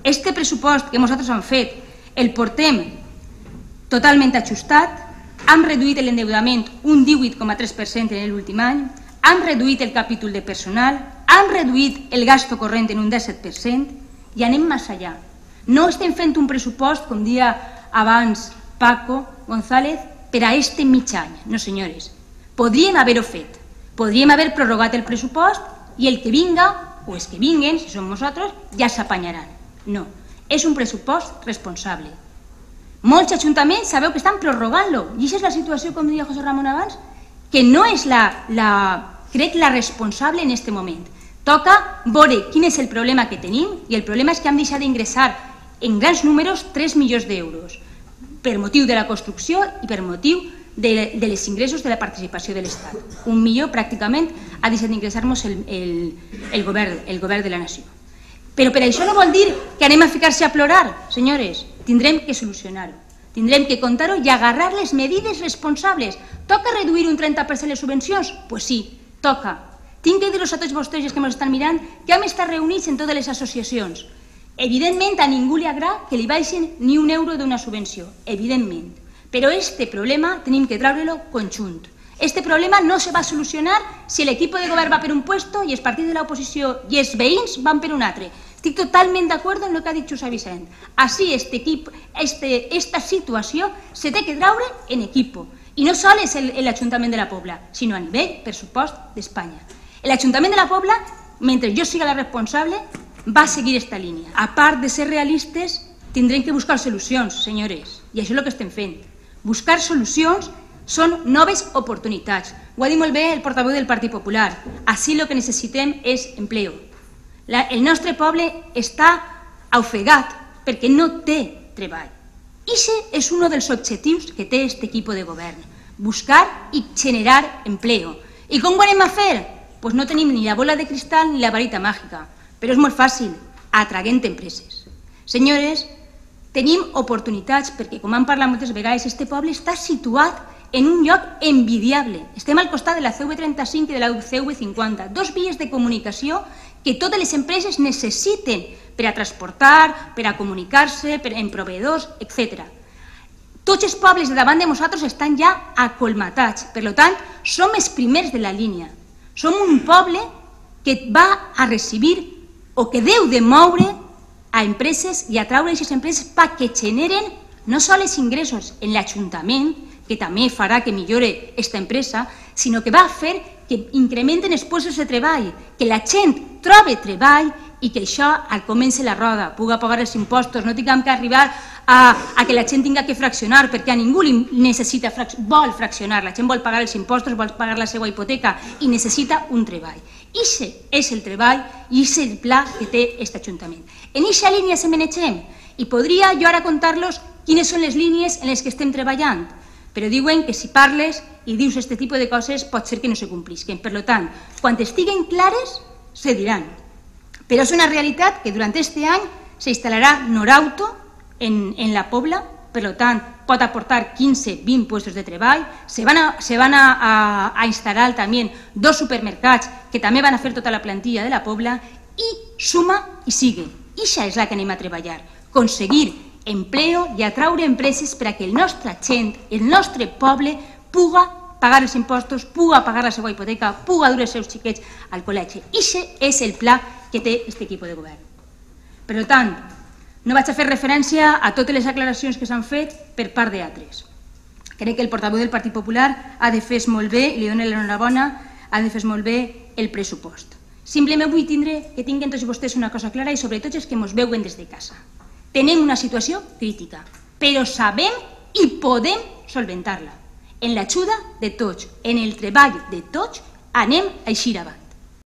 este pressupost que nosaltres hem fet el portem totalment ajustat, hem reduït l'endeutament un 18,3% en l'últim any, hem reduït el capítol de personal, hem reduït el gasto corrent en un 17% i anem més allà. No estem fent un pressupost, com dia abans Paco González, per a este mig any. No, senyores. Podríem haver-ho fet. Podríem haver prorrogat el pressupost i el que vinga, o els que vinguen, si som nosaltres, ja s'apanyaran. No. És un pressupost responsable. Molts ajuntaments sabeu que estan prorrogant-lo. I aquesta és la situació, com deia José Ramon abans, que no és crec la responsable en aquest moment. Toca veure quin és el problema que tenim i el problema és que hem deixat d'ingressar en grans números 3 milions d'euros per motiu de la construcció i per motiu de les ingressos de la participació de l'Estat. 1 milió pràcticament ha deixat d'ingressar-nos el govern de la nació. Però per això no vol dir que anem a ficar-se a plorar, senyores. Tindrem que solucionar-ho. Tindrem que contar-ho i agarrar les medides responsables. Toca reduir un 30% les subvencions? Doncs sí, toca. Tinc que dir-los a tots vostès que ens estan mirant que hem estat reunits en totes les associacions. Evidentment, a ningú li agrada que li baixin ni un euro d'una subvenció, evidentment. Però este problema tenim que treure-lo conjunt. Este problema no se va solucionar si l'equip de govern va per un puesto i els partits de l'oposició i els veïns van per un altre. Estic totalment d'acord amb el que ha dit José Vicent. Així, esta situació se té que treure en equip. I no sols l'Ajuntament de la Pobla, sinó a nivell, per supost, d'Espanya. L'Ajuntament de la Pobla, mentre jo siga la responsable, va seguir esta línia. A part de ser realistes, tindrem que buscar solucions, senyores, i això és el que estem fent. Buscar solucions són noves oportunitats. Ho ha dit molt bé el portaveu del Partit Popular. Així el que necessitem és empleo. El nostre poble està ofegat perquè no té treball. Aquest és un dels objectius que té aquest equip de govern. Buscar i generar empleo. I com ho anem a fer? Doncs no tenim ni la bola de cristal ni la varita màgica. Però és molt fàcil, atraient empreses. Senyores, tenim oportunitats perquè, com hem parlat moltes vegades, este poble està situat en un lloc envidiable. Estem al costat de la CV35 i de la CV50, dos vies de comunicació que totes les empreses necessiten per a transportar, per a comunicar-se, en proveïdors, etc. Tots els pobles de davant de nosaltres estan ja acolmatats. Per tant, som els primers de la línia. Som un poble que va a recibir o que deu de moure a empreses i atraure aquestes empreses perquè generen no sols ingressos en l'Ajuntament, que també farà que millore aquesta empresa, sinó que va fer que incrementen els llocs de treball, que la gent trobi treball i que això al comenci la roda, pugui pagar els impostos, no tinguem que arribar a que la gent tingui que fraccionar, perquè a ningú vol fraccionar, la gent vol pagar els impostos, vol pagar la seva hipoteca i necessita un treball. Aquest és el treball i aquest és el pla que té aquest Ajuntament. En aquesta línia se manegem i podria jo ara contar-los quines són les línies en les que estem treballant, però diuen que si parles i dius aquest tipus de coses pot ser que no se complisquen. Per tant, quan estiguen clares, se diran. Però és una realitat que durant aquest any s'instal·larà Norauto en la Pobla, per tant, pot aportar 15-20 llocs de treball. Se van a instal·lar també 2 supermercats que també van a fer tota la plantilla de la Pobla i suma i sigue. I això és la que anem a treballar, aconseguir empleo i atraure empreses perquè el nostre gent, el nostre poble, pugui pagar els impostos, pugui pagar la seva hipoteca, pugui dur els seus xiquets al col·legi. Aquest és el pla que té aquest equip de govern. Per tant, no vaig a fer referència a totes les aclaracions que s'han fet per part d'altres. Crec que el portaveu del Partit Popular ha defès molt bé, i li dono l'enhorabona, ha defès molt bé el pressupost. Simplement vull que tinguen tots vostès una cosa clara i sobretot els que ens veuen des de casa. Tenim una situació crítica, però sabem i podem solventar-la. En l'ajuda de tots, en el treball de tots, anem a eixir avant.